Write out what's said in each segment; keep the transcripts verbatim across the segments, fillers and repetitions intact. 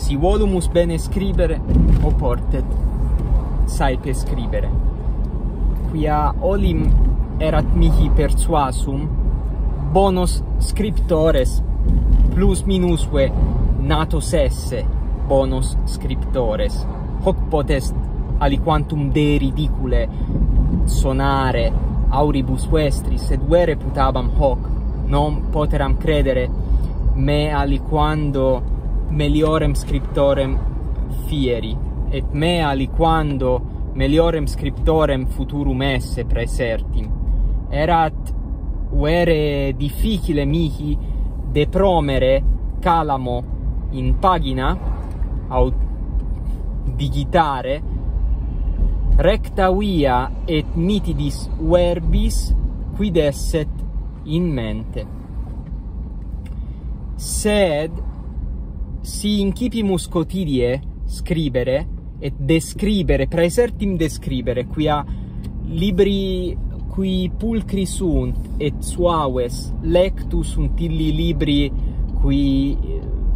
Si volumus bene scribere, oportet saepe scribere. Quia olim erat mihi persuasum, bonos scriptores plus minusve natos esse bonos scriptores. Hoc potest aliquantum Dei ridicule sonare auribus vestris, sed vere putabam hoc, non poteram credere me aliquando meliorem scriptorem fieri, et me aliquando meliorem scriptorem futurum esse praesertim. Erat vere difficile mihi depromere calamo in pagina, aut digitare, recta via et nitidis verbis quid esset in mente. Sed si incipimus quotidie scribere et describere, praesertim describere, quia libri qui pulchri sunt et suaves lectus sunt illi libri qui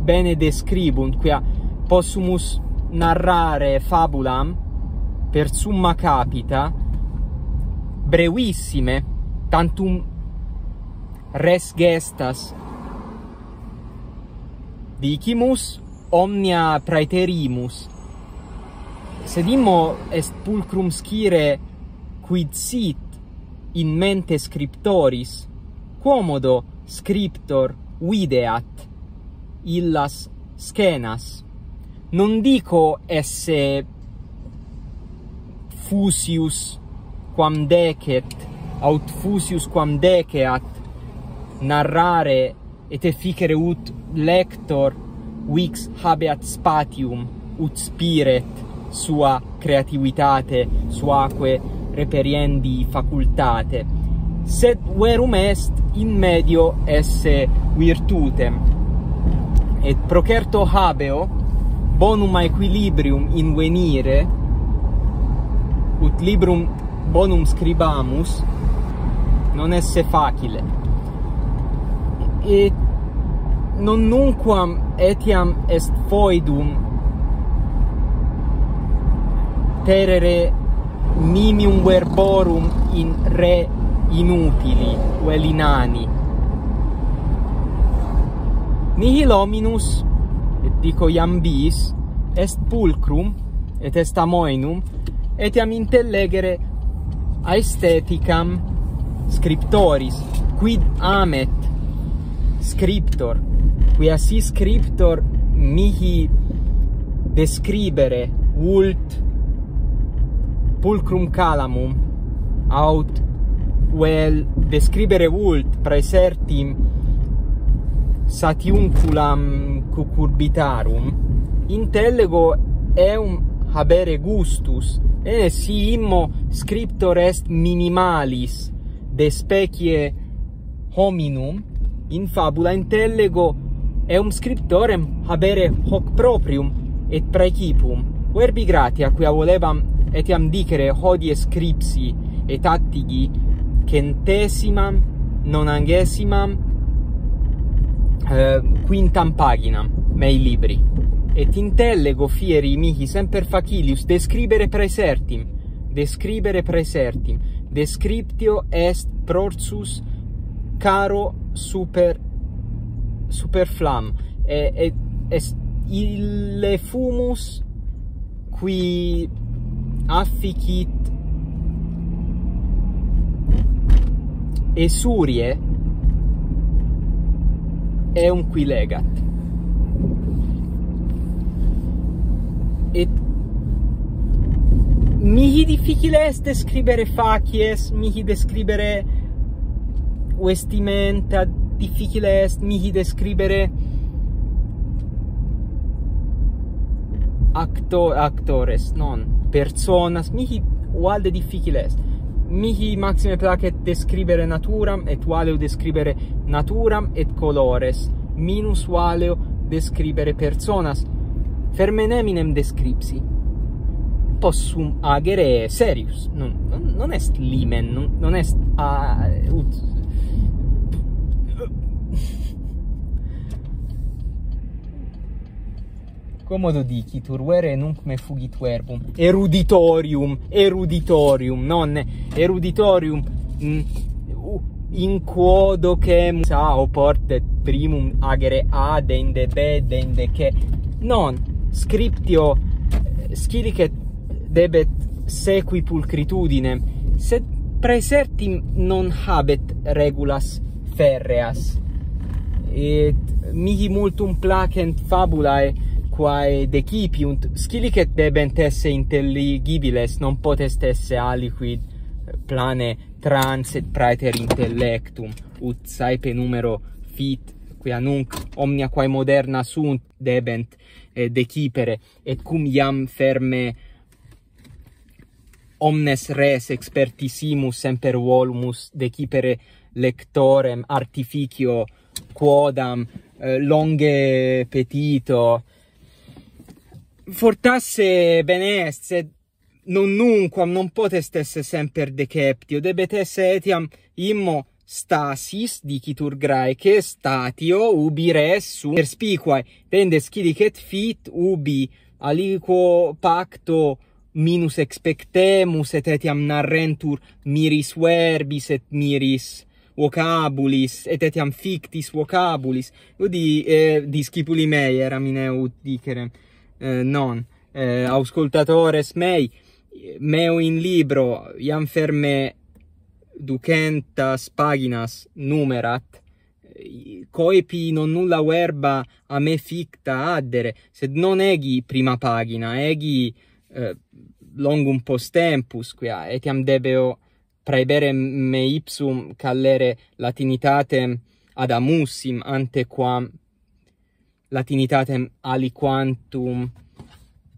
bene describunt, quia possumus narrare fabulam per summa capita, brevissime, tantum res gestas dicimus, omnia praeterimus. Sed immo est pulchrum scire quid sit in mente scriptoris, quomodo scriptor videat illas scenas. Non dico esse fusius quam decet, aut fusius quam deceat narrare et efficere ut lector vix habeat spatium, ut spiret sua creativitate, suaque reperiendi facultate. Sed verum est in medio esse virtutem. Et procerto habeo bonum aequilibrium invenire, ut librum bonum scribamus, non esse facile. Et non nunquam etiam est foedum terere nimium verborum in re inutili, vel inani. Nihil hominus, et dico iam bis, est pulchrum, et est amoenum, etiam intellegere aestheticam scriptoris, quid amet scriptor, quia si scriptor mihi describere vult pulchrum calamum, aut vel describere vult praesertim satiunculam cucurbitarum, intellego eum habere gustus, et si immo scriptor est minimalis de specie hominum, in fabula intellego eum scriptorem habere hoc proprium et praecipum. Verbi gratia, quia volebam etiam dicere hodie scripsi et attigi centesimam nonangesimam eh, quintam paginam mei libri. Et intellego fieri mihi semper facilius describere praesertim, describere praesertim, descriptio est prorsus caro super, superflam, et, et est ille fumus qui afficit esurie eum qui legat. Et mihi difficile est describere facies, mihi describere vestimenta, difficile est mihi describere acto-, actores, non, personas, mihi valde difficile est. Mihi maxime placet describere naturam, et valeo describere naturam et colores, minus valeo describere personas. Fermen eminem descripsi. Possum agere serius, non, non, non est limen, non, non est a, ut, Commodo dicitur, vere nunc me fugit verbum. Eruditorium, eruditorium, non eruditorium, mm, u-, in quo docemus a oportet primum agere a dende b dende c. Non, scriptio, eh, scilicet debet sequi pulchritudinem, sed praesertim non habet regulas ferreas. Et mihi multum placent fabulae quae decipiunt, scilicet debent esse intelligibiles, non potest esse aliquid plane transit praeter intellectum, ut saepe numero fit, quia nunc omnia quae moderna sunt debent, eh, decipere, et cum iam ferme omnes res expertissimus semper volumus decipere lectorem artificio quodam, eh, longe petito. Fortasse bene est, sed non nunquam, non potest esse semper deceptio, debet esse etiam immo stasis, dicitur Graece, statio, ubi res sunt perspicuae, dende scilicet fit ubi aliquo pacto minus expectemus, et etiam narrentur miris verbis et miris vocabulis, et etiam fictis vocabulis. Ut di, eh, discipuli mei eram ine ut dicerem, eh, non, eh, auscultatores mei, meo in libro iam ferme ducentas paginas numerat, eh, coepi non nulla verba a me ficta addere, sed non egi prima pagina, egi, eh, longum post tempus, quia etiam debeo praebere me ipsum callere latinitatem ad amussim, ante quam latinitatem aliquantum,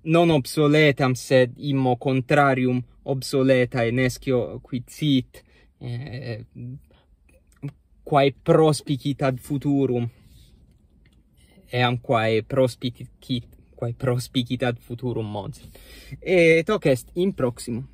non obsoletam, sed immo contrarium obsoletae, nescio quid sit, eh, quae prospicit ad futurum, eam quae prospicit, quae prospicit ad futurum, Monse. Et hoc est, in proximum.